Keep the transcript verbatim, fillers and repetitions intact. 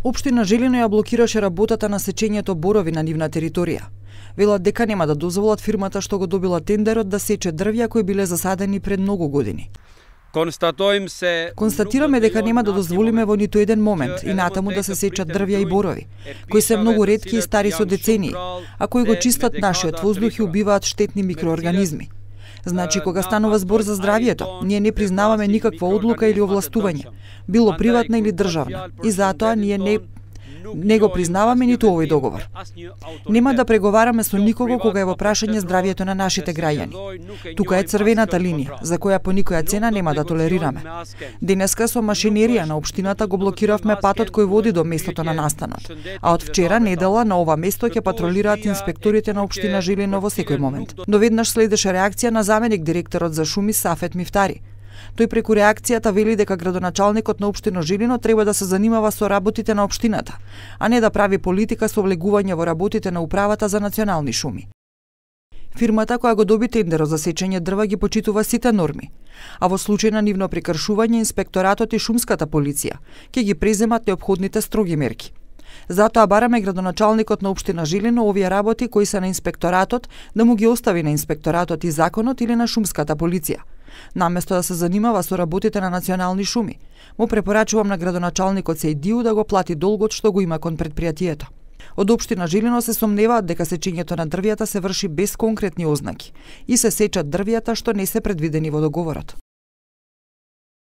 Општина Жилино ја блокираше работата на сечењето борови на нивна територија. Велат дека нема да дозволат фирмата што го добила тендерот да сече дрвја кои биле засадени пред многу години. Констатираме дека нема да дозволиме во ниту еден момент и натаму да се сечат дрвја и борови, кои се многу ретки и стари со децении, а кои го чистат нашиот воздух и убиваат штетни микроорганизми. Значи, кога станува збор за здравието, ние не признаваме никаква одлука или овластување, било приватна или државна, и затоа ние не не го признаваме ниту овој договор. Нема да преговараме со никого кога е во прашање здравието на нашите граѓани. Тука е црвената линија, за која по никоја цена нема да толерираме. Денеска со машинерија на општината го блокиравме патот кој води до местото на настанот, а од вчера недела на ова место ќе патролираат инспекторите на општина Жилино во секој момент. Но веднаш следеше реакција на заменик директорот за шуми Сафет Мифтари. Тој преку реакцијата вели дека градоначалникот на општина Жилино треба да се занимава со работите на општината, а не да прави политика со влегување во работите на управата за национални шуми. Фирмата која го доби тендерот за сечење дрва ги почитува сите норми, а во случај на нивно прекршување инспекторатот и шумската полиција ќе ги преземат неопходните строги мерки. Затоа бараме градоначалникот на општина Жилино овие работи кои се на инспекторатот да му ги остави на инспекторатот и законот или на шумската полиција, наместо да се занимава со работите на национални шуми. Му препорачувам на градоначалникот Сејдију да го плати долгот што го има кон претпријатието. Од општина Жилино се сомневаат дека сечењето на дрвјата се врши без конкретни ознаки и се сечат дрвјата што не се предвидени во договорот.